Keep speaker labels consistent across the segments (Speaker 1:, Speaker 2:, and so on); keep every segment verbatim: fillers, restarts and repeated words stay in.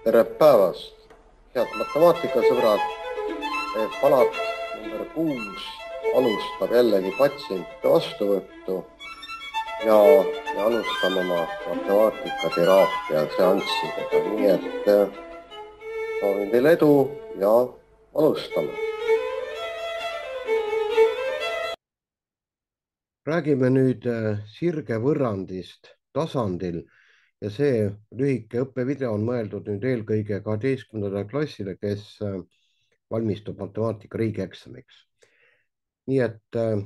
Speaker 1: Tere päevast, head matemaatikasõbrad. Palat number kuus alustab jällegi patsientide vastuvõttu ja me alustame oma matemaatikateraapia seanssidega, nii et soovin teile edu ja alustame. Räägime nüüd sirgevõrrandist tasandil ja see lühike õppevideo on mõeldud nüüd eelkõige kaheteistkümnendale klassile, kes valmistub matemaatika riigieksamiks. Nii et äh,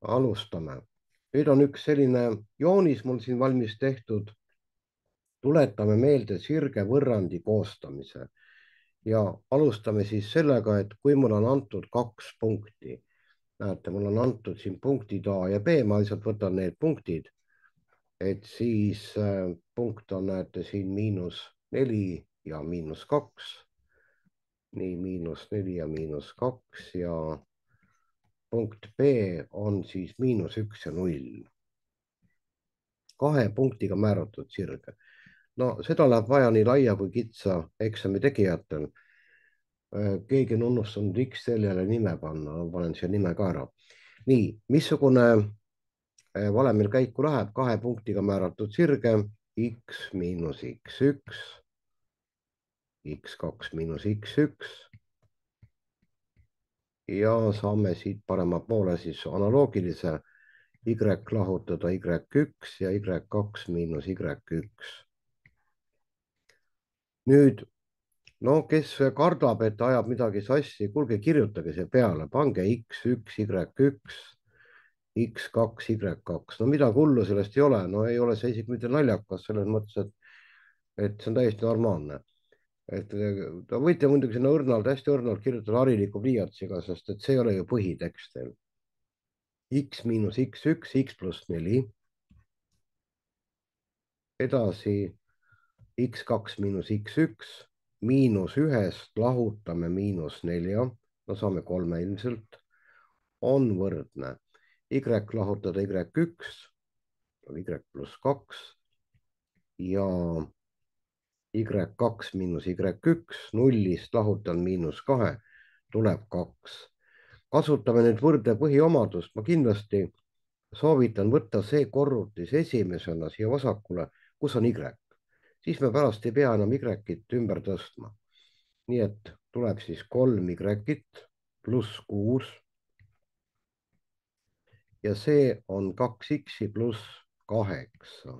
Speaker 1: alustame. Nüüd on üks selline joonis mul siin valmis tehtud. Tuletame meelde sirgevõrrandi koostamise ja alustame siis sellega, et kui mul on antud kaks punkti, näete, mul on antud siin punktid A ja B, ma lihtsalt võtan need punktid, et siis äh, punkt on, näete siin miinus neli ja miinus kaks, nii miinus neli ja miinus kaks ja punkt B on siis miinus üks ja null. Kahe punktiga määratud sirge. No seda läheb vaja nii laia kui kitsa eksami tegijatel. Keegi on unustanud X seljale nime panna, panen siia nime ka ära. Nii, missugune valemil käiku läheb kahe punktiga määratud sirge X miinus X üks, X kaks miinus X üks ja saame siit parema poole siis analoogilise Y lahutada Y üks ja Y kaks miinus Y üks. Nüüd, no kes kardab, et ajab midagi sassi, kuulge, kirjutage see peale, pange X üks, Y üks, X kaks, Y kaks. No midagi hullu sellest ei ole, no ei ole see isegi mitte naljakas selles mõttes, et, et see on täiesti normaalne. Et ta võite muidugi sinna õrnalt, hästi õrnalt kirjutada hariliku pliiatsiga, sest et see ei ole ju põhitekst teil. X miinus X üks, X pluss neli. Edasi X kaks miinus X üks, miinus ühest lahutame miinus nelja, no saame kolme ilmselt, on võrdne Y lahutada Y üks, Y pluss kaks ja Y kaks miinus Y üks, nullist lahutan miinus kahe, tuleb kaks. Kasutame nüüd võrdle põhiomadust, ma kindlasti soovitan võtta see korrutis esimesena siia vasakule, kus on Y. Siis me pärast ei pea enam Y-it ümber tõstma. Nii et tuleb siis kolm Y-it pluss kuus. Ja see on kaks X-i pluss kaheksa.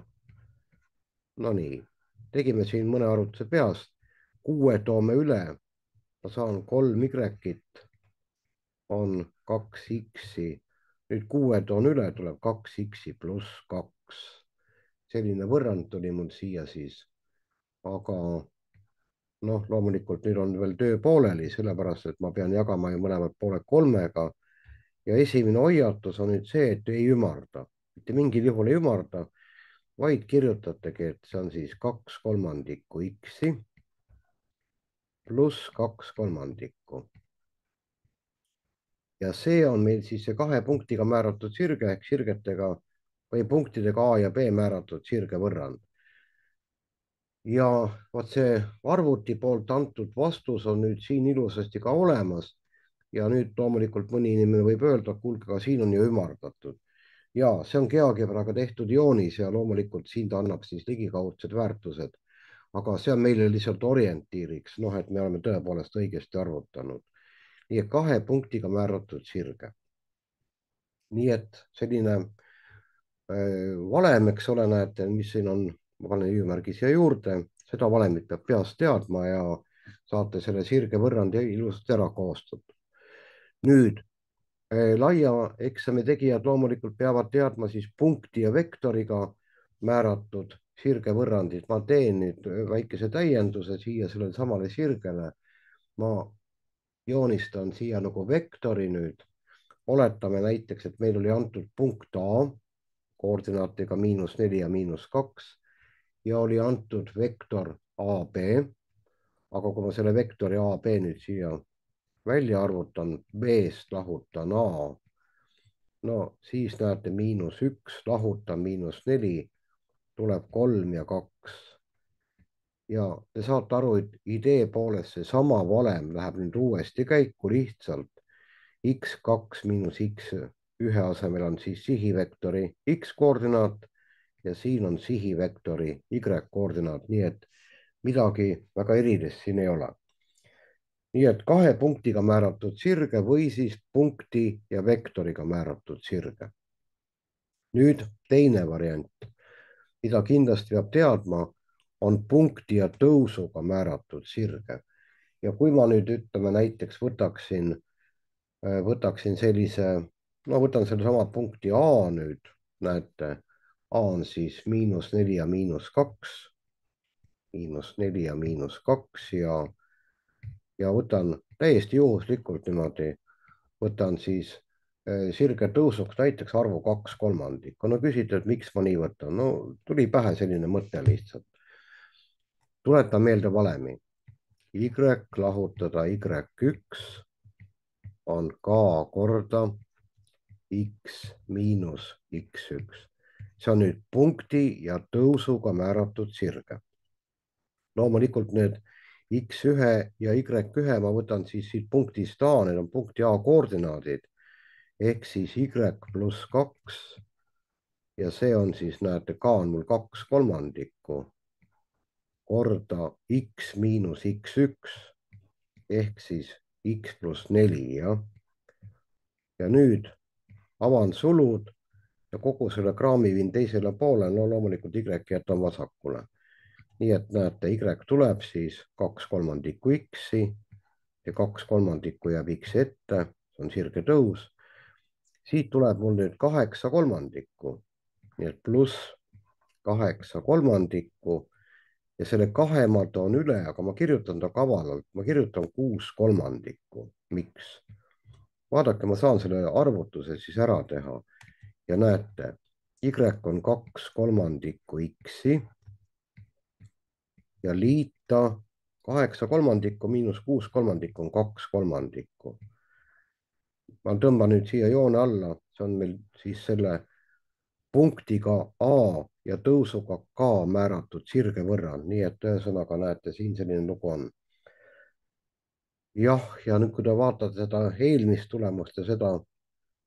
Speaker 1: No nii, tegime siin mõne arvutuse peast. Kuue toome üle. Ma saan kolm Y-it on kaks X-i. Nüüd kuue toon üle, tuleb kaks X-i pluss kaks. Selline võrrand tuli mul siia siis. Aga noh, loomulikult nüüd on veel töö pooleli, sellepärast, et ma pean jagama ju mõlemad pooled kolmega. Ja esimene hoiatus on nüüd see, et ei ümarda. Mitte mingil juhul ei ümarda, vaid kirjutategi, et see on siis kaks kolmandikku X-i pluss kaks kolmandikku. Ja see on meil siis see kahe punktiga määratud sirge ehk sirgetega või punktidega A ja B määratud sirgevõrrand. Ja vaat see arvuti poolt antud vastus on nüüd siin ilusasti ka olemas. Ja nüüd loomulikult mõni inimene võib öelda, kuulge, ka siin on ju ümardatud. Ja see on GeoGebraga tehtud joonis ja loomulikult siin ta annab siis ligikaudsed väärtused. Aga see on meile lihtsalt orientiiriks, noh, et me oleme tõepoolest õigesti arvutanud. Nii et kahe punktiga määratud sirge. Nii et selline äh, valem, eks ole, näete, mis siin on, ma panen hüüumärgi siia juurde, seda valemit peab peast teadma ja saate selle sirge võrrandi ilusasti ära koostatud. Nüüd, äh, laia eksami tegijad loomulikult peavad teadma siis punkti ja vektoriga määratud sirge võrrandid. Ma teen nüüd väikese täienduse siia sellele samale sirgele. Ma joonistan siia nagu vektori nüüd. Oletame näiteks, et meil oli antud punkt A koordinaatiga miinus neli ja miinus kaks ja oli antud vektor A B. Aga kui ma selle vektori A B nüüd siia välja arvutan, B-st lahutan A, no siis näete miinus üks, lahutan miinus neli, tuleb kolm ja kaks. ja te saate aru, et idee poolest seesama valem läheb nüüd uuesti käiku lihtsalt. X kaks miinus X ühe asemel on siis sihivektori X koordinaat ja siin on sihivektori Y koordinaat, nii et midagi väga erilist siin ei ole. nii et kahe punktiga määratud sirge või siis punkti ja vektoriga määratud sirge. nüüd teine variant, mida kindlasti peab teadma, on punkti ja tõusuga määratud sirge. ja kui ma nüüd ütleme näiteks võtaksin, võtaksin sellise, no võtan sellesama punkti A nüüd, näete, A on siis miinus neli ja miinus kaks, miinus neli ja miinus kaks ja, ja võtan täiesti juhuslikult niimoodi, võtan siis sirge tõusuks näiteks arvu kaks kolmandikku. no küsite, et miks ma nii võtan, no tuli pähe selline mõte lihtsalt. tuletan meelde valemi. Y lahutada Y üks on K korda X miinus X üks. see on nüüd punkti ja tõusuga määratud sirge. loomulikult need X ühe ja Y ühe ma võtan siis siit punktist A, need on punkti A koordinaadid ehk siis Y pluss kaks ja see on siis, näete, K on mul kaks kolmandikku korda X miinus X üks ehk siis X pluss neli, jah. ja nüüd avan sulud ja kogu selle kraami viin teisele poole, no loomulikult Y jätan vasakule. nii et näete, Y tuleb siis kaks kolmandikku X-i ja kaks kolmandikku jääb X ette, see on sirge tõus. siit tuleb mul nüüd kaheksa kolmandikku, nii et pluss kaheksa kolmandikku ja selle kahe ma toon üle, aga ma kirjutan ta kavalalt, ma kirjutan kuus kolmandikku. miks? vaadake, ma saan selle arvutuse siis ära teha ja näete, Y on kaks kolmandikku X-i ja liita kaheksa kolmandikku miinus kuus kolmandikku on kaks kolmandikku. ma tõmban nüüd siia joone alla, see on meil siis selle punktiga A ja tõusuga K määratud sirge võrra, nii et ühesõnaga näete, siin selline lugu on. jah, ja nüüd, kui te vaatate seda eelmist tulemust ja seda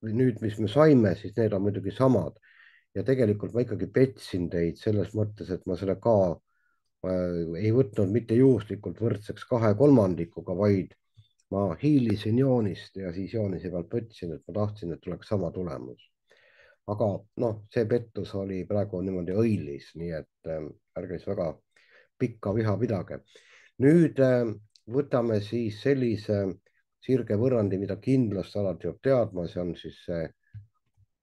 Speaker 1: nüüd, mis me saime, siis need on muidugi samad ja tegelikult ma ikkagi petsin teid selles mõttes, et ma selle K äh, ei võtnud mitte juhuslikult võrdseks kahe kolmandikuga, vaid ma hiilisin joonist ja siis joonise pealt võtsin, et ma tahtsin, et tuleks sama tulemus. aga noh, see pettus oli praegu niimoodi õilis, nii et äh, ärge siis väga pikka viha pidage. nüüd äh, võtame siis sellise sirge võrrandi, mida kindlasti alati peab teadma, see on siis see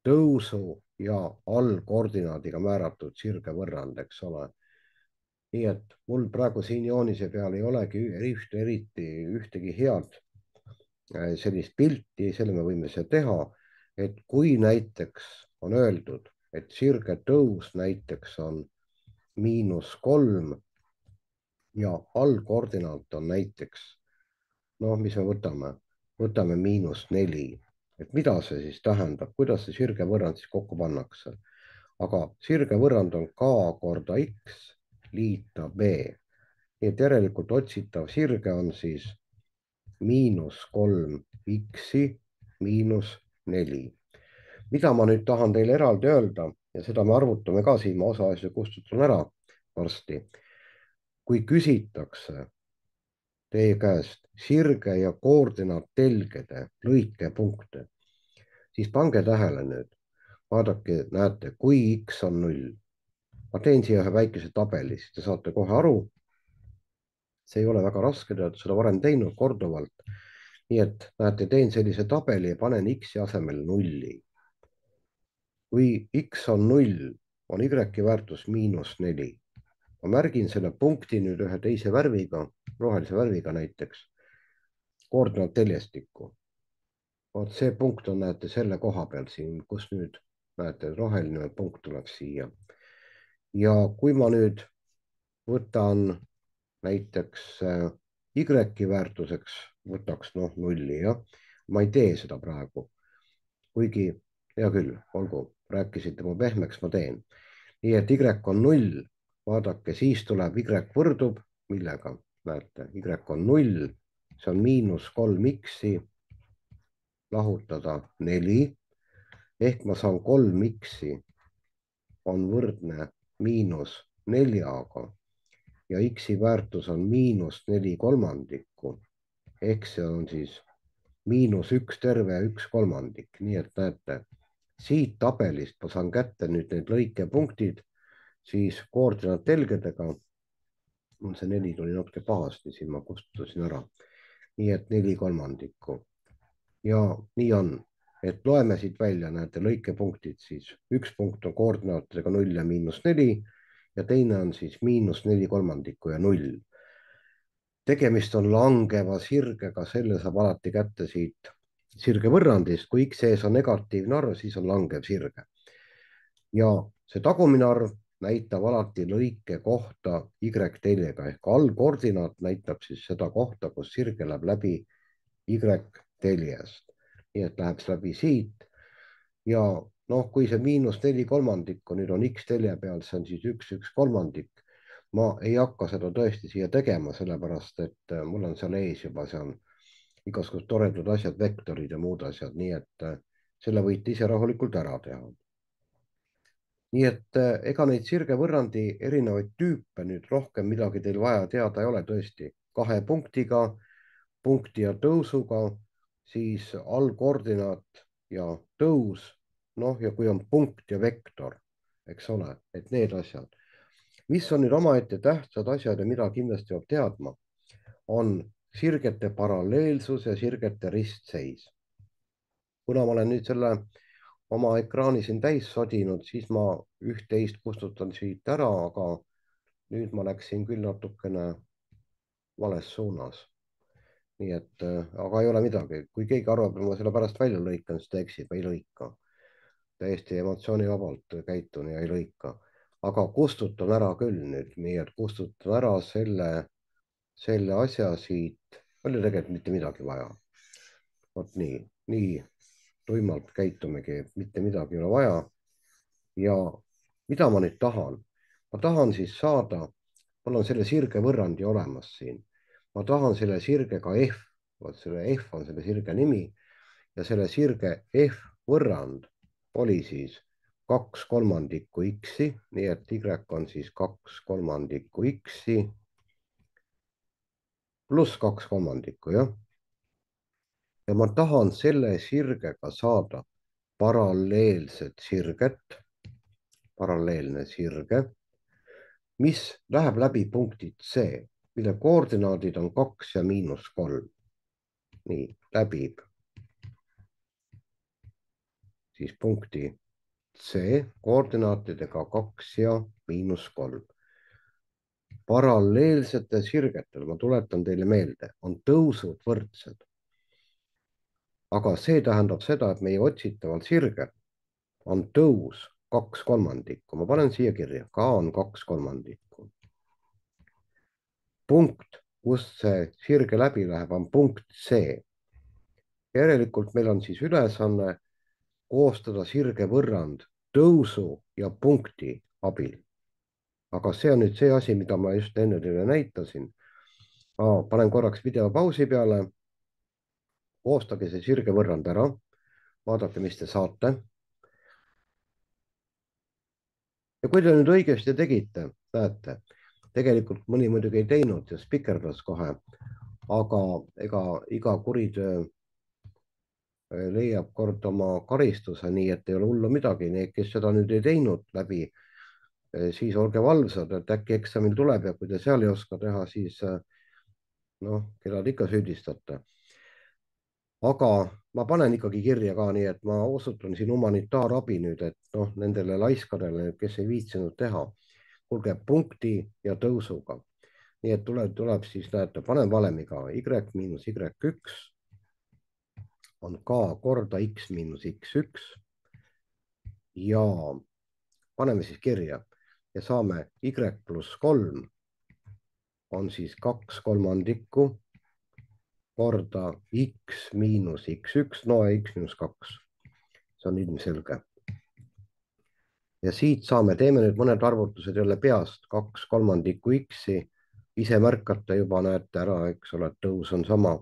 Speaker 1: tõusu ja allkoordinaadiga määratud sirge võrrand, eks ole. nii et mul praegu siin joonise peal ei olegi ühte, eriti ühtegi head sellist pilti, selle me võime see teha, et kui näiteks on öeldud, et sirge tõus näiteks on miinus kolm ja allkoordinaat on näiteks, noh, mis me võtame, võtame miinus neli, et mida see siis tähendab, kuidas see sirge võrrand siis kokku pannakse. aga sirge võrrand on K korda X liita B. nii et järelikult otsitav sirge on siis miinus kolm X-i miinus neli. mida ma nüüd tahan teile eraldi öelda ja seda me arvutame ka siin, ma osa asju kustutan ära varsti. kui küsitakse teie käest sirge ja koordinaattelgede lõikepunkte, siis pange tähele nüüd, vaadake, näete, kui X on null. ma teen siia ühe väikese tabeli, siis te saate kohe aru. see ei ole väga raske, te olete seda varem teinud korduvalt. nii et näete, teen sellise tabeli ja panen X-i asemel nulli. kui X on null, on Y-i väärtus miinus neli. ma märgin selle punkti nüüd ühe teise värviga, rohelise värviga näiteks, koordinaatteljestikku. vot see punkt on, näete, selle koha peal siin, kus nüüd näete, roheline punkt tuleb siia. ja kui ma nüüd võtan näiteks Y-i väärtuseks, võtaks noh nulli, jah. ma ei tee seda praegu. kuigi, hea küll, olgu, rääkisite mu pehmeks, ma teen. nii et Y on null, vaadake, siis tuleb Y võrdub millega, näete, Y on null, see on miinus kolm X-i, lahutada neli, ehk ma saan kolm X-i on võrdne miinus neljaga ja X-i väärtus on miinus neli kolmandikku, ehk see on siis miinus üks terve ja üks kolmandik, nii et näete, siit tabelist ma saan kätte nüüd need lõikepunktid, siis koordinaattelgedega on see neli tuli natuke pahasti, siin ma kustutasin ära, nii et neli kolmandikku ja nii on, et loeme siit välja, näete lõikepunktid, siis üks punkt on koordinaatidega null ja miinus neli ja teine on siis miinus neli kolmandikku ja null. Tegemist on langeva sirgega, selle saab alati kätte siit sirgevõrrandist, kui X ees on negatiivne arv, siis on langev sirge. Ja see tagumine arv näitab alati lõike kohta Y-teljega ehk allkoordinaat näitab siis seda kohta, kus sirge läheb läbi Y-teljest. Nii et läheb läbi siit ja noh, kui see miinus neli kolmandikku nüüd on X-telje peal, see on siis üks, üks kolmandik. Ma ei hakka seda tõesti siia tegema, sellepärast et mul on seal ees juba, see on igasugused toredad asjad, vektorid ja muud asjad, nii et selle võite ise rahulikult ära teha. Nii et ega neid sirgevõrrandi erinevaid tüüpe nüüd rohkem midagi teil vaja teada ei ole tõesti. Kahe punktiga, punkti ja tõusuga, siis allkoordinaat ja tõus, noh ja kui on punkt ja vektor, eks ole, et need asjad. Mis on nüüd omaette tähtsad asjad ja mida kindlasti peab teadma, on sirgete paralleelsus ja sirgete ristseis. Kuna ma olen nüüd selle oma ekraani siin täis sodinud, siis ma üht-teist kustutan siit ära, aga nüüd ma läksin küll natukene vales suunas. Nii et, aga ei ole midagi. Kui keegi arvab, et ma selle pärast välja lõikan, siis ta eksib, ei lõika. Täiesti emotsioonivabalt käitun ja ei lõika. Aga kustutan ära küll nüüd, nii et kustutan ära selle, selle asja siit. Oli tegelikult mitte midagi vaja. Vot nii, nii tuimalt käitumegi, mitte midagi ei ole vaja. Ja mida ma nüüd tahan? Ma tahan siis saada, mul on selle sirge võrrandi olemas siin. Ma tahan selle sirgega F, vot selle F on selle sirge nimi ja selle sirge F võrrand oli siis kaks kolmandikku X-i, nii et Y on siis kaks kolmandikku X-i pluss kaks kolmandikku, jah. Ja ma tahan selle sirgega saada paralleelset sirget, paralleelne sirge, mis läheb läbi punkti C, mille koordinaadid on kaks ja miinus kolm. Nii, läbib siis punkti C koordinaatidega kaks ja miinus kolm. Paralleelsetel sirgetel, ma tuletan teile meelde, on tõusud võrdsed. Aga see tähendab seda, et meie otsitaval sirgel on tõus kaks kolmandikku. Ma panen siia kirja, K on kaks kolmandikku. Punkt, kust see sirge läbi läheb, on punkt C. Järelikult meil on siis ülesanne koostada sirge võrrand tõusu ja punkti abil. Aga see on nüüd see asi, mida ma just enne teile näitasin. Ma panen korraks video pausi peale. Koostage see sirge võrrand ära. Vaadake, mis te saate. Ja kui te nüüd õigesti tegite, näete, tegelikult mõni muidugi ei teinud ja spikerdas kohe, aga ega iga kuritöö leiab kord oma karistuse, nii et ei ole hullu midagi. Need, kes seda nüüd ei teinud läbi, siis olge valvsad, et äkki eksamil tuleb ja kui te seal ei oska teha, siis noh, keda te ikka süüdistate. Aga ma panen ikkagi kirja ka nii, et ma osutan siin humanitaarabi nüüd, et noh, nendele laiskadele, kes ei viitsinud teha, kuulge punkti ja tõusuga. Nii et tuleb, tuleb siis, näete, panen valemiga Y miinus Y üks on K korda X miinus X üks ja paneme siis kirja ja saame Y pluss kolm on siis kaks kolmandikku korda X miinus X üks, no X miinus kaks. See on ilmselge. Ja siit saame, teeme nüüd mõned arvutused jälle peast, kaks kolmandikku X-i ise märkate juba, näete ära, eks ole, et tõus on sama.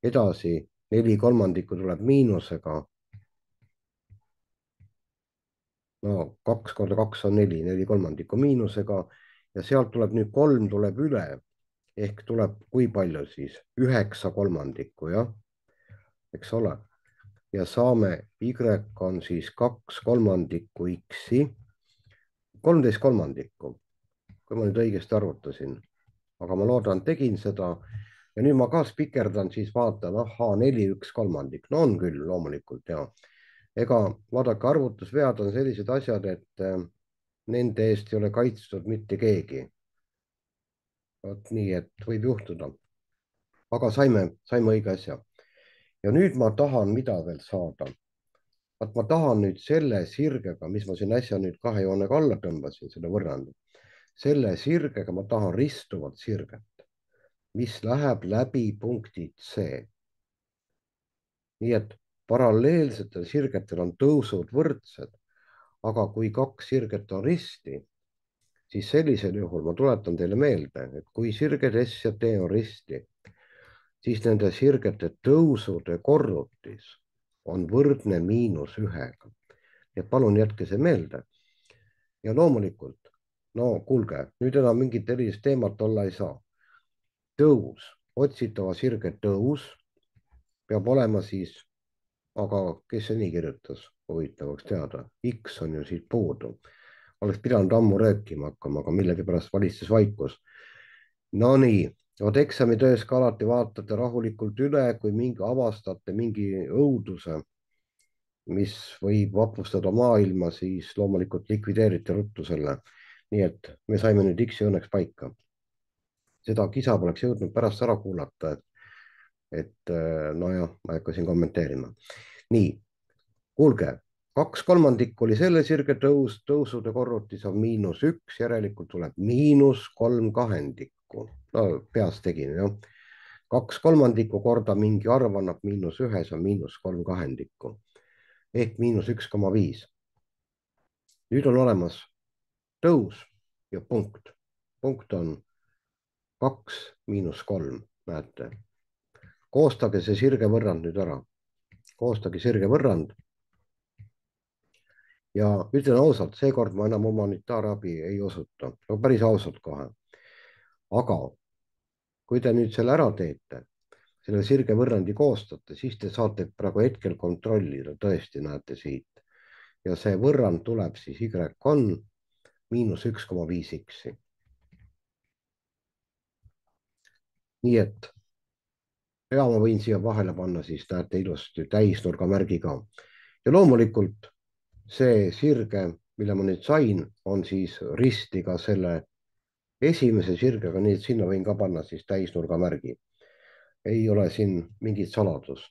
Speaker 1: edasi, neli kolmandikku tuleb miinusega. no kaks korda kaks on neli, neli kolmandikku miinusega ja sealt tuleb nüüd kolm tuleb üle ehk tuleb kui palju siis? üheksa kolmandikku, jah, eks ole. ja saame Y on siis kaks kolmandikku X-i, kolmteist kolmandikku, kui ma nüüd õigesti arvutasin, aga ma loodan, tegin seda. ja nüüd ma ka spikerdan, siis vaatan, ahhaa, neli, üks kolmandik, no on küll loomulikult ja ega vaadake, arvutusvead on sellised asjad, et äh, nende eest ei ole kaitstud mitte keegi. vot nii, et võib juhtuda. aga saime, saime õige asja. ja nüüd ma tahan, mida veel saada. vaat ma tahan nüüd selle sirgega, mis ma siin äsja nüüd kahe joonega alla tõmbasin, selle võrrandi. selle sirgega ma tahan ristuvat sirget, mis läheb läbi punkti C. nii et paralleelsetel sirgetel on tõusud võrdsed, aga kui kaks sirget on risti, siis sellisel juhul ma tuletan teile meelde, et kui sirged S ja T on risti, siis nende sirgete tõusude korrutis on võrdne miinus ühega. ja palun jätke see meelde. ja loomulikult, no kuulge, nüüd enam mingit erilist teemat olla ei saa. tõus, otsitava sirge tõus peab olema siis, aga kes see nii kirjutas, huvitavaks teada, X on ju siit puudu. oleks pidanud ammu rääkima hakkama, aga millegipärast valitses vaikus. Nonii, vot eksamitöös ka alati vaatate rahulikult üle, kui mingi avastate mingi õuduse, mis võib vapustada maailma, siis loomulikult likvideerite ruttu selle. nii et me saime nüüd X-i õnneks paika. seda kisa poleks jõudnud pärast ära kuulata, et, et nojah, ma ei hakka siin kommenteerima. nii, kuulge, kaks kolmandikku oli selle sirge tõus, tõusude korrutis on miinus üks, järelikult tuleb miinus kolm kahendikku. no peast tegin, jah. kaks kolmandikku korda mingi arv annab miinus ühe, see on miinus kolm kahendikku ehk miinus üks koma viis. nüüd on olemas tõus ja punkt. punkt on kaks miinus kolm, näete. koostage see sirge võrrand nüüd ära. koostage sirge võrrand. ja ütlen ausalt, seekord ma enam humanitaarabi ei osuta, no päris ausalt kohe. aga kui te nüüd selle ära teete, selle sirge võrrandi koostate, siis te saate praegu hetkel kontrollida, tõesti näete siit. ja see võrrand tuleb siis Y on miinus üks koma viis X-i. nii et ja ma võin siia vahele panna, siis näete ilusti täisnurga märgi ka. ja loomulikult see sirge, mille ma nüüd sain, on siis risti ka selle esimese sirgega, nii et sinna võin ka panna siis täisnurga märgi. ei ole siin mingit saladust.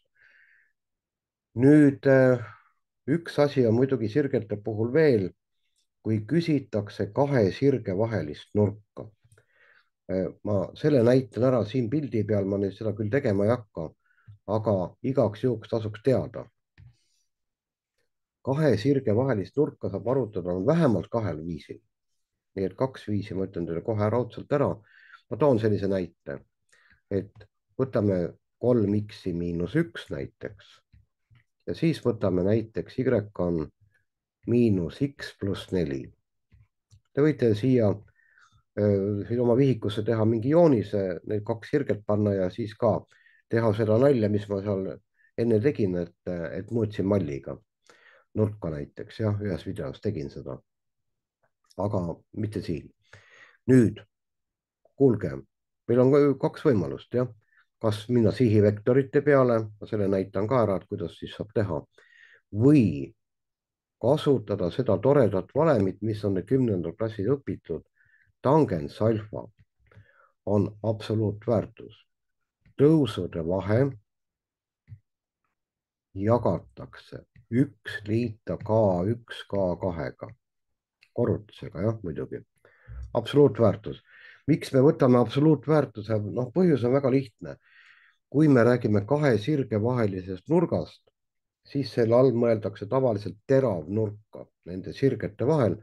Speaker 1: nüüd üks asi on muidugi sirgete puhul veel, kui küsitakse kahe sirge vahelist nurka. ma selle näitan ära siin pildi peal, ma nüüd seda küll tegema ei hakka, aga igaks juhuks tasuks teada. kahe sirge vahelist nurka saab arvutada vähemalt kahel viisil. nii et kaks viisi ma ütlen teile kohe raudselt ära. ma toon sellise näite, et võtame kolm X-i miinus üks näiteks ja siis võtame näiteks Y on miinus X pluss neli. Te võite siia siin oma vihikusse teha mingi joonise, need kaks sirget panna ja siis ka teha seda nalja, mis ma seal enne tegin, et, et muutsin malliga nurka näiteks, jah, ühes videos tegin seda. aga mitte siin. nüüd, kuulge, meil on kaks võimalust, jah. kas minna sihivektorite peale, ma selle näitan ka ära, et kuidas siis saab teha. või kasutada seda toredat valemit, mis on kümnendal klassil õpitud. tangens alfa on absoluutväärtus. tõusude vahe jagatakse üks liita K üks K kahega. korrutisega, jah, muidugi. absoluutväärtus. miks me võtame absoluutväärtuse? noh, põhjus on väga lihtne. kui me räägime kahe sirge vahelisest nurgast, siis selle all mõeldakse tavaliselt teravnurka nende sirgete vahel,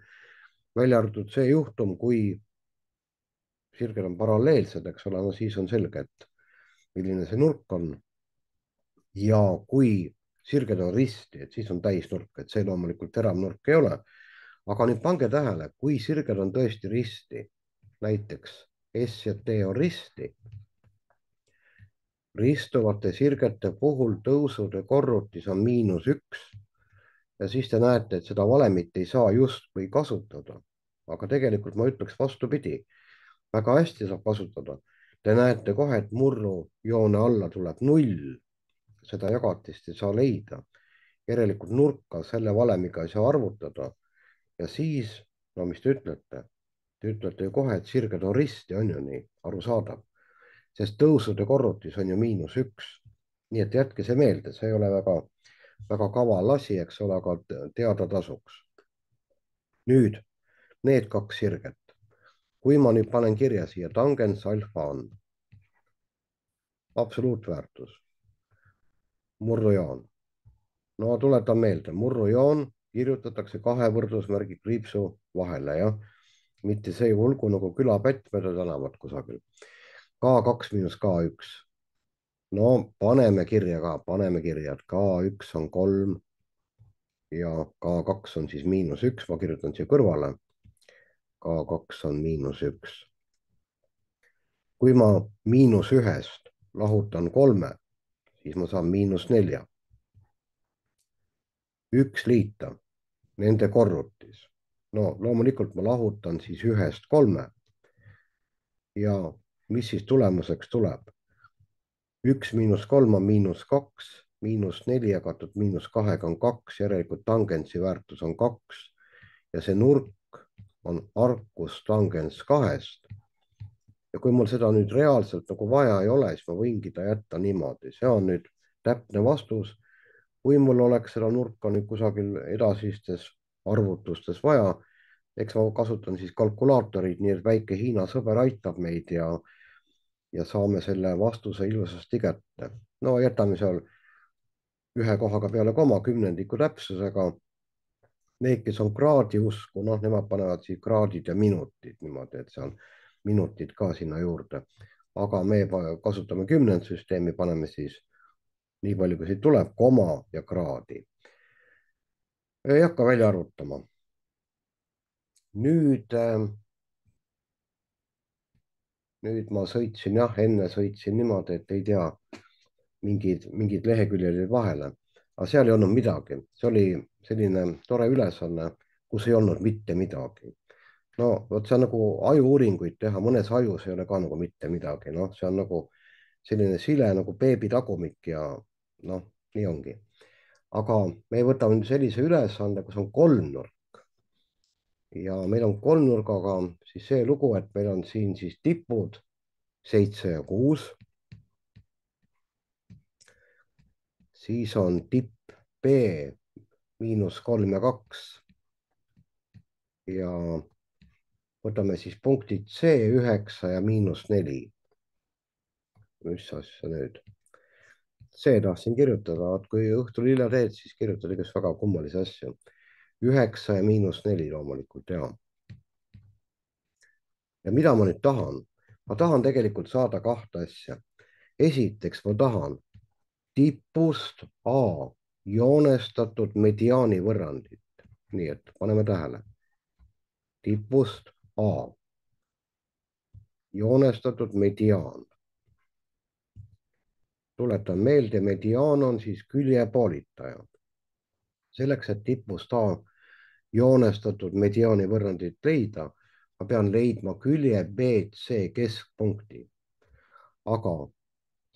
Speaker 1: välja arvatud see juhtum, kui sirged on paralleelsed, eks ole, no siis on selge, et milline see nurk on. ja kui sirged on risti, et siis on täisnurk, et see loomulikult teravnurk ei ole. aga nüüd pange tähele, kui sirged on tõesti risti, näiteks S ja T on risti, ristuvate sirgete puhul tõusude korrutis on miinus üks ja siis te näete, et seda valemit ei saa justkui kasutada. aga tegelikult ma ütleks vastupidi, väga hästi saab kasutada. Te näete kohe, et murrujoone alla tuleb null, seda jagatist ei saa leida. järelikult nurka selle valemiga ei saa arvutada. ja siis, no mis te ütlete? Te ütlete ju kohe, et sirged on risti, on ju nii, arusaadav, sest tõusude korrutis on ju miinus üks. nii et jätke see meelde, see ei ole väga, väga kaval asi, eks ole, aga teada tasuks. nüüd need kaks sirget. kui ma nüüd panen kirja siia tangens alfa on absoluutväärtus, murrujoon. no tuletan meelde, murrujoon kirjutatakse kahe võrdusmärgi kriipsu vahele, jah, mitte see hulgu nagu külapätt mööda tänavat kusagil. K kaks miinus K üks. no paneme kirja ka, paneme kirja, et K üks on kolm ja K kaks on siis miinus üks, ma kirjutan siia kõrvale. K kaks on miinus üks. kui ma miinus ühest lahutan kolme, siis ma saan miinus nelja. üks liita nende korrutis. no loomulikult ma lahutan siis ühest kolme. ja mis siis tulemuseks tuleb? üks miinus kolm on miinus kaks, miinus neli jagatud miinus kahega on kaks, järelikult tangentsi väärtus on kaks ja see nurk on arcus tangens kahest. ja kui mul seda nüüd reaalselt nagu vaja ei ole, siis ma võingi ta jätta niimoodi, see on nüüd täpne vastus. kui mul oleks seda nurka nüüd kusagil edasistes arvutustes vaja, eks ma kasutan siis kalkulaatorit, nii et väike Hiina sõber aitab meid ja ja saame selle vastuse ilusasti kätte. no jätame seal ühe kohaga peale koma kümnendiku täpsusega. Need, kes on kraadi usku, noh, nemad panevad siis kraadid ja minutid niimoodi, et seal minutid ka sinna juurde. aga me kasutame kümnendsüsteemi, paneme siis nii palju, kui siit tuleb, koma ja kraadi. ei hakka välja arvutama. nüüd äh, nüüd ma sõitsin, jah, enne sõitsin niimoodi, et ei tea, mingid, mingid leheküljed olid vahele, aga seal ei olnud midagi, see oli selline tore ülesanne, kus ei olnud mitte midagi. no vot, see on nagu ajuuuringuid teha, mõnes ajus ei ole ka nagu mitte midagi, noh, see on nagu selline sile nagu beebi tagumik ja noh, nii ongi. aga me võtame nüüd sellise ülesande, kus on kolmnurk ja meil on kolmnurgaga siis see lugu, et meil on siin siis tipud seitse ja kuus. siis on tipp B miinus kolm ja kaks. ja võtame siis punktid C üheksa ja miinus neli. mis asja nüüd? C tahtsin kirjutada, et kui õhtul hilja teed, siis kirjutad igast väga kummalisi asju. üheksa ja miinus neli loomulikult, ja. ja mida ma nüüd tahan? ma tahan tegelikult saada kahte asja. esiteks ma tahan tipust A joonestatud mediaani võrrandit. nii et paneme tähele. tipust A joonestatud mediaan. tuletan meelde, mediaan on siis küljepoolitaja. selleks, et tipust A joonestatud mediaani võrrandit leida, ma pean leidma külje B C keskpunkti. aga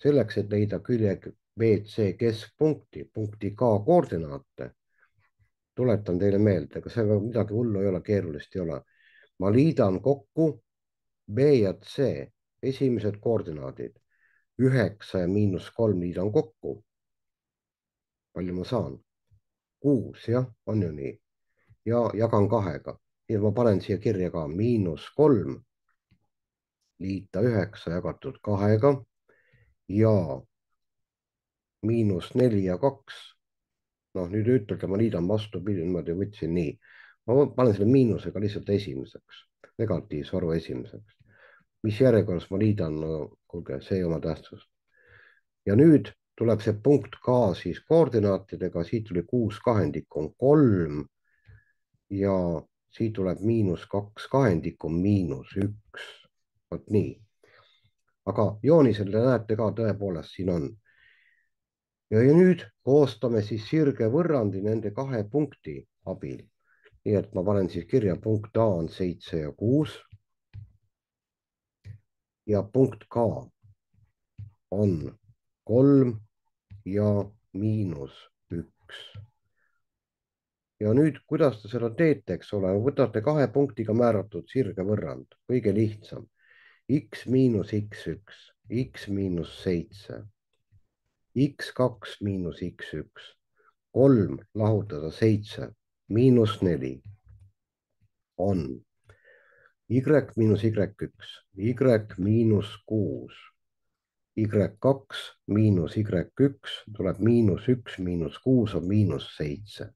Speaker 1: selleks, et leida külje B C keskpunkti, punkti K koordinaate, tuletan teile meelde, ega see midagi hullu ei ole, keerulist ei ole. ma liidan kokku B ja C esimesed koordinaadid. üheksa ja miinus kolm liidan kokku. palju ma saan? kuus, jah, on ju nii. ja jagan kahega. nii et ma panen siia kirja ka miinus kolm liita üheksa jagatud kahega ja miinus neli ja kaks. noh, nüüd ütelge, ma liidan vastupidi, niimoodi võtsin nii. ma panen selle miinusega lihtsalt esimeseks, negatiivse arvu esimeseks. mis järjekorras ma liidan, no kuulge, see ei oma tähtsust. ja nüüd tuleb see punkt K siis koordinaatidega, siit tuli kuus kahendikku on kolm ja siit tuleb miinus kaks kahendikku miinus üks. vot nii. aga joonisel te näete ka tõepoolest siin on. ja, ja nüüd koostame siis sirgevõrrandi nende kahe punkti abil. nii et ma panen siis kirja, punkt A on seitse ja kuus. ja punkt K on kolm ja miinus üks. ja nüüd, kuidas te seda teete, eks ole, võtate kahe punktiga määratud sirgevõrrand, kõige lihtsam. X miinus X üks, X miinus seitse, X kaks miinus X üks, kolm lahutada seitse, miinus neli on Y miinus Y üks, Y miinus kuus, Y kaks miinus Y üks tuleb miinus üks, miinus kuus on miinus seitse.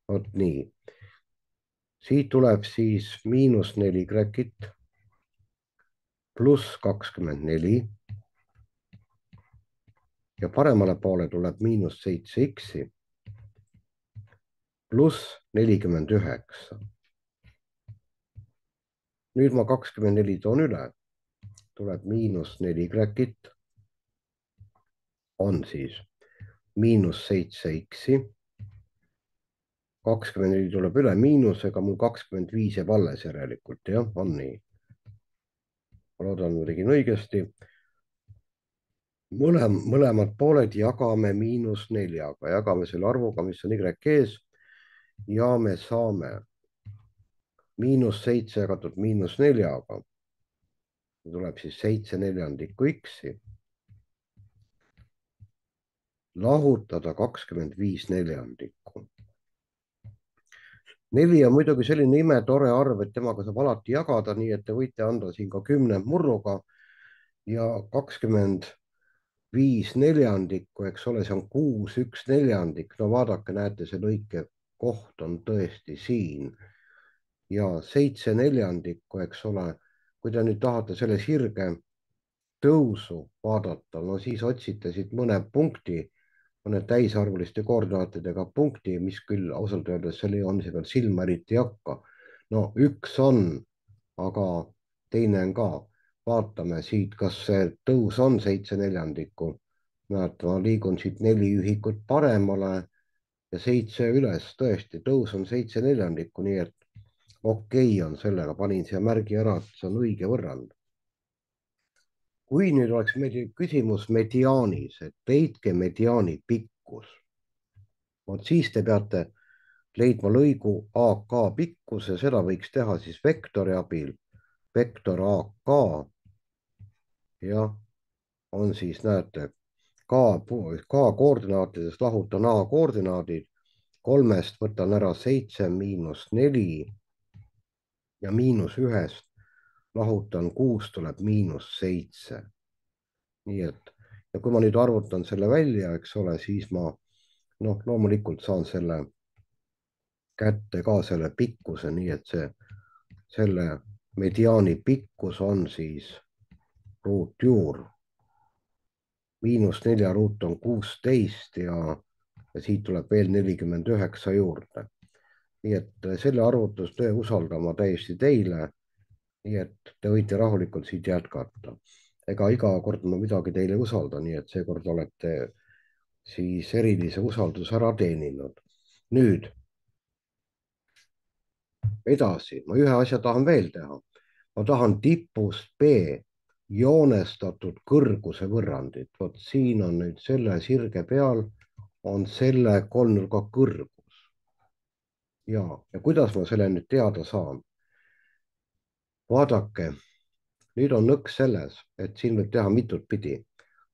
Speaker 1: vot nii. siit tuleb siis miinus neli Y-it pluss kakskümmend neli ja paremale poole tuleb miinus seitse X-i pluss nelikümmend üheksa. nüüd ma kakskümmend neli toon üle, tuleb miinus neli Y-it on siis miinus seitse X-i. kakskümmend neli tuleb üle miinusega, mul kakskümmend viis jääb alles järelikult, jah, on nii. ma loodan, ma tegin õigesti. mõlem, mõlemad pooled jagame miinus neljaga, jagame selle arvuga, mis on Y ees ja me saame miinus seitse jagatud miinus neljaga. tuleb siis seitse neljandikku X-i. lahutada kakskümmend viis neljandikku. neli on muidugi selline imetore arv, et temaga saab alati jagada, nii et te võite anda siin ka kümne murruga ja kakskümmend viis neljandikku, eks ole, see on kuus, üks neljandik. no vaadake, näete, see lõike koht on tõesti siin ja seitse neljandikku, eks ole. kui te nüüd tahate selle sirge tõusu vaadata, no siis otsite siit mõne punkti, mõne täisarvuliste koordinaatidega punkti, mis küll ausalt öeldes selle joomise peal silma eriti ei hakka. no üks on, aga teine on ka. vaatame siit, kas see tõus on seitse neljandikku. näete, ma liigun siit neli ühikut paremale ja seitse üles, tõesti, tõus on seitse neljandikku, nii et okei okay on sellega, panin siia märgi ära, et see on õige võrrand. kui nüüd oleks meil küsimus mediaanis, et leidke mediaani pikkus, vot siis te peate leidma lõigu A K pikkuse, seda võiks teha siis vektori abil, vektor A K ja on siis, näete, K, K koordinaatidest lahutan A koordinaadid, kolmest võtan ära seitse miinus neli ja miinus ühest lahutan kuus, tuleb miinus seitse. nii et, ja kui ma nüüd arvutan selle välja, eks ole, siis ma noh, loomulikult saan selle kätte ka selle pikkuse, nii et see, selle mediaani pikkus on siis ruutjuur. miinus nelja ruut on kuusteist ja, ja siit tuleb veel nelikümmend üheksa juurde. nii et selle arvutustöö usaldan ma täiesti teile. nii et te võite rahulikult siit jätkata. ega iga kord ma midagi teile usaldan, nii et seekord olete siis erilise usalduse ära teeninud. nüüd edasi, ma ühe asja tahan veel teha. ma tahan tipust B joonestatud kõrguse võrrandit. vot siin on nüüd selle sirge peal on selle kolmnurga kõrgus. ja, ja kuidas ma selle nüüd teada saan? vaadake, nüüd on nõks selles, et siin võib teha mitut pidi.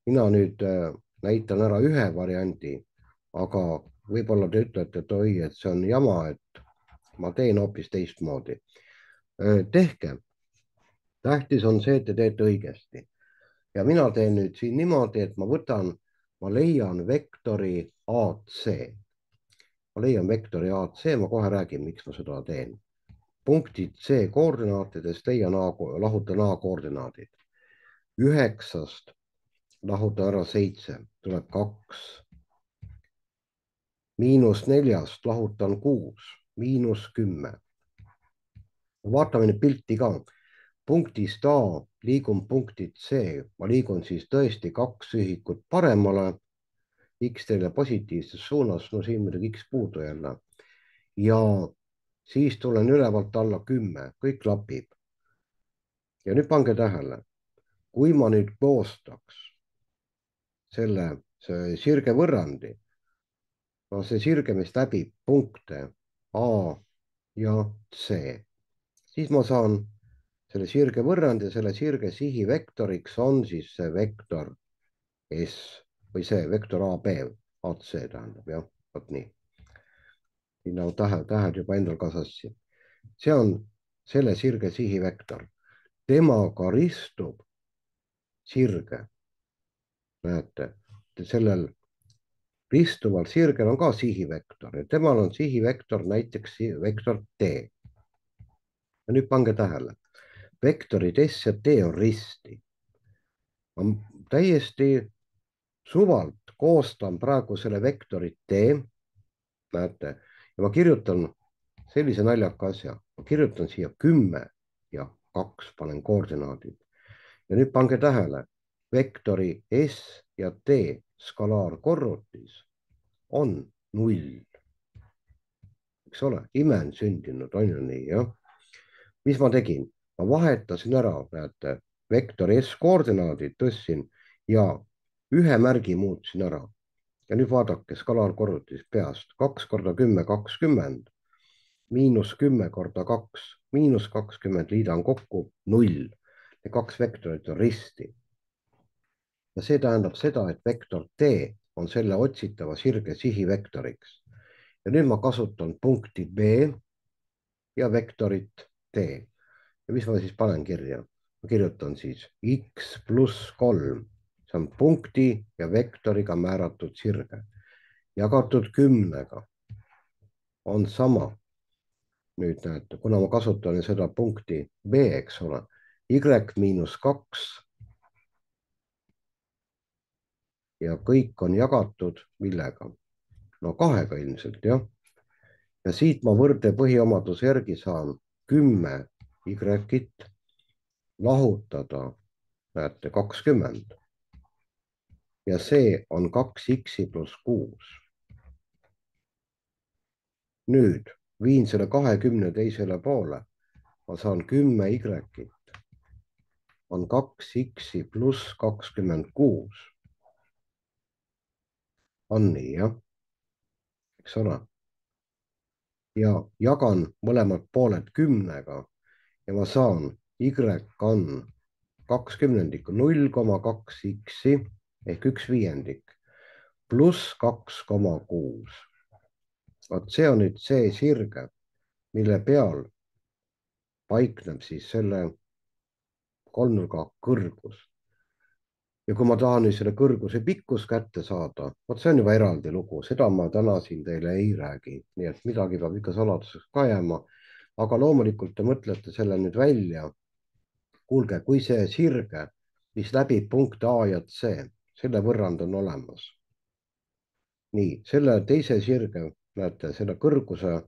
Speaker 1: mina nüüd äh, näitan ära ühe variandi, aga võib-olla te ütlete, et oi, et see on jama, et ma teen hoopis teistmoodi. tehke. tähtis on see, et te teete õigesti. ja mina teen nüüd siin niimoodi, et ma võtan, ma leian vektori A C. ma leian vektori A C, ma kohe räägin, miks ma seda teen. punktid C koordinaatidest leia A, lahutan A koordinaadid. üheksast lahutan ära seitse, tuleb kaks. miinus neljast lahutan kuus, miinus kümme. vaatame nüüd pilti ka. punktist A liigun punkti C, ma liigun siis tõesti kaks ühikut paremale, X teile positiivses suunas, no siin muidugi X puudu jälle. ja siis tulen ülevalt alla kümme, kõik klapib. ja nüüd pange tähele, kui ma nüüd koostaks selle, see sirgevõrrandi, no see sirge, mis läbib punkte A ja C, siis ma saan selle sirgevõrrandi ja selle sirge sihivektoriks on siis see vektor S või see vektor A B, A C tähendab jah, vot nii. siin on tähed, tähed juba endal ka sassi. see on selle sirge sihivektor, temaga ristub sirge. näete, sellel ristuval sirgel on ka sihivektor ja temal on sihivektor näiteks vektor D. ja nüüd pange tähele, vektorid S ja T on risti. ma täiesti suvalt koostan praegu selle vektori D, näete, ja ma kirjutan sellise naljaka asja, ma kirjutan siia kümme ja kaks, panen koordinaadid. ja nüüd pange tähele, vektori S ja T skalaarkorrutis on null. eks ole, ime on sündinud, on ju nii, jah? mis ma tegin? ma vahetasin ära, näete, vektori S koordinaadid tõstsin ja ühe märgi muutsin ära. ja nüüd vaadake skalaarkorrutis peast, kaks korda kümme, kakskümmend, miinus kümme korda kaks, miinus kakskümmend, liidan kokku, null. Need kaks vektorit on risti. ja see tähendab seda, et vektor D on selle otsitava sirge sihivektoriks. ja nüüd ma kasutan punkti B ja vektorit D. ja mis ma siis panen kirja? ma kirjutan siis X pluss kolm, see on punkti ja vektoriga määratud sirge, jagatud kümnega on sama. nüüd näete, kuna ma kasutan seda punkti B, eks ole, Y miinus kaks ja kõik on jagatud millega? no kahega ilmselt, jah. ja siit ma võrde põhiomaduse järgi saan kümme Y-it lahutada, näete, kakskümmend. ja see on kaks X-i pluss kuus. nüüd viin selle kahekümne teisele poole, ma saan kümme Y-it on kaks X-i pluss kakskümmend kuus. on nii, jah? eks ole. ja jagan mõlemad pooled kümnega ja ma saan Y on kaks kümnendikku, null koma kaks X-i ehk üks viiendik pluss kaks koma kuus. vot see on nüüd see sirge, mille peal paikneb siis selle kolmnurga kõrgus. ja kui ma tahan nüüd selle kõrguse pikkus kätte saada, vot see on juba eraldi lugu, seda ma täna siin teile ei räägi, nii et midagi peab ikka saladuseks ka jääma. aga loomulikult te mõtlete selle nüüd välja. kuulge, kui see sirge, mis läbib punkte A ja C, selle võrrand on olemas. nii, selle teise sirge, näete, selle kõrguse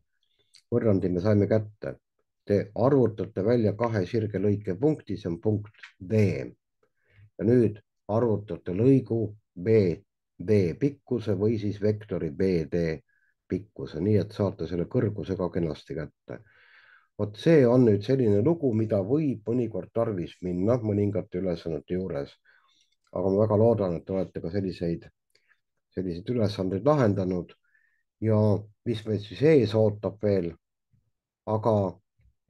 Speaker 1: võrrandi me saime kätte. Te arvutate välja kahe sirge lõike punkti, see on punkt D. ja nüüd arvutate lõigu B D pikkuse või siis vektori B D pikkuse, nii et saate selle kõrguse ka kenasti kätte. vot see on nüüd selline lugu, mida võib mõnikord tarvis minna mõningate ülesannete juures. aga ma väga loodan, et te olete ka selliseid, selliseid ülesandeid lahendanud ja mis meid siis ees ootab veel. aga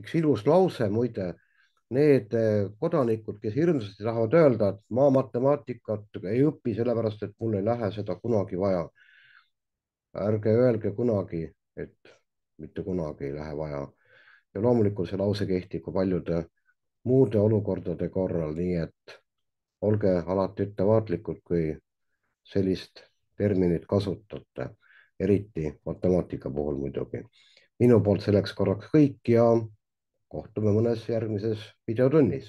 Speaker 1: üks ilus lause muide, need kodanikud, kes hirmsasti tahavad öelda, et ma matemaatikat ei õpi sellepärast, et mul ei lähe seda kunagi vaja. ärge öelge kunagi, et mitte kunagi ei lähe vaja. ja loomulikult see lause kehtib ka paljude muude olukordade korral, nii et olge alati ettevaatlikud, kui sellist terminit kasutate, eriti matemaatika puhul muidugi. minu poolt selleks korraks kõik ja kohtume mõnes järgmises videotunnis.